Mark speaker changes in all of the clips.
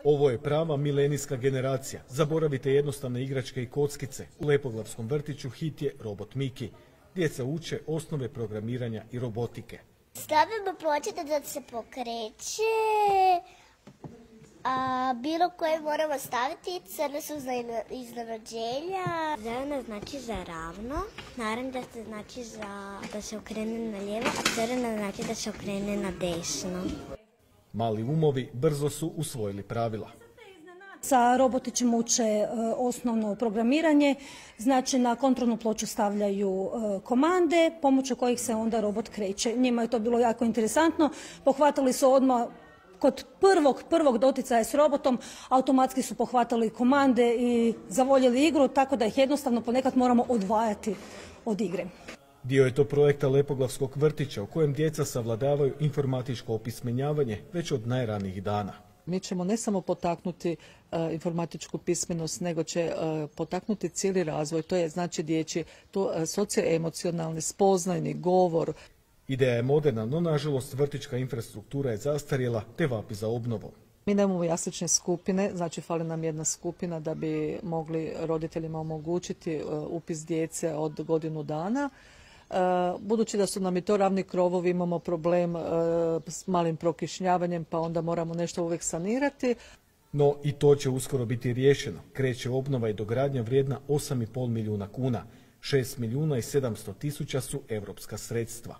Speaker 1: Ovo je prava milenijska generacija. Zaboravite jednostavne igračke i kockice. U Lepoglavskom vrtiću hit je robot Miki. Djeca uče osnove programiranja i robotike.
Speaker 2: Stavimo pločice da se pokreće, a bilo koje moramo staviti, crne su za iznenađenja.
Speaker 3: Zelena znači za ravno, naranđa znači da se okrene na lijevo, a crvena znači da se okrene na desno.
Speaker 1: Mali umovi brzo su usvojili pravila.
Speaker 4: Sa robotićem uče osnovno programiranje, znači na kontrolnu ploču stavljaju komande pomoću kojih se onda robot kreće. Njima je to bilo jako interesantno, pohvatali su odmah kod prvog doticaja s robotom, automatski su pohvatali komande i zavoljeli igru, tako da ih jednostavno ponekad moramo odvajati od igre.
Speaker 1: Dio je to projekta Lepoglavskog vrtića u kojem djeca savladavaju informatičko opismenjavanje već od najranijih dana.
Speaker 5: Mi ćemo ne samo potaknuti informatičku pismenost, nego će potaknuti cijeli razvoj. To je znači dječji, socioemocionalni, spoznajni govor.
Speaker 1: Ideja je moderna, no nažalost vrtićka infrastruktura je zastarjela te vapi za obnovom.
Speaker 5: Mi nemamo jaslične skupine, znači fali nam jedna skupina da bi mogli roditeljima omogućiti upis djece od godinu dana. Budući da su nam i to ravni krovovi, imamo problem s malim prokišnjavanjem, pa onda moramo nešto uvijek sanirati.
Speaker 1: No i to će uskoro biti riješeno. Kreće obnova i dogradnja vrijedna 8,5 milijuna kuna. 6 milijuna i 700 tisuća su europska sredstva.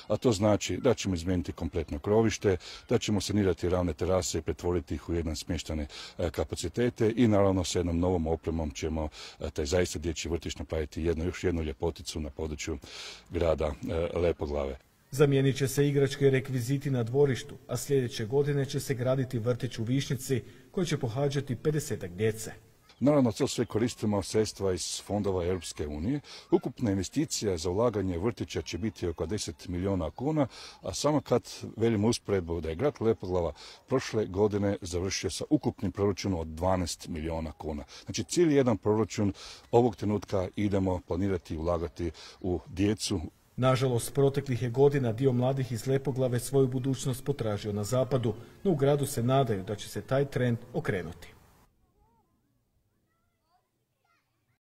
Speaker 6: A to znači da ćemo izmijeniti kompletno krovište, da ćemo sanirati ravne terase i pretvoriti ih u jedan smještane kapacitete i naravno s jednom novom opremom ćemo taj zaista dječji vrtić napraviti još jednu ljepoticu na području grada Lepoglave.
Speaker 1: Zamijenit će se igračke i rekviziti na dvorištu, a sljedeće godine će se graditi vrtić u Višnjici koji će pohađati 50-ak djece.
Speaker 6: Naravno, to sve koristimo sredstva iz fondova Europske unije. Ukupna investicija za ulaganje vrtića će biti oko 10 milijuna kuna, a samo kad velimo usporedbu da je grad Lepoglava prošle godine završio sa ukupnim proračunom od 12 milijuna kuna. Znači, cijeli jedan proračun ovog trenutka idemo planirati i ulagati u djecu.
Speaker 1: Nažalost, proteklih je godina dio mladih iz Lepoglave svoju budućnost potražio na zapadu, no u gradu se nadaju da će se taj trend okrenuti.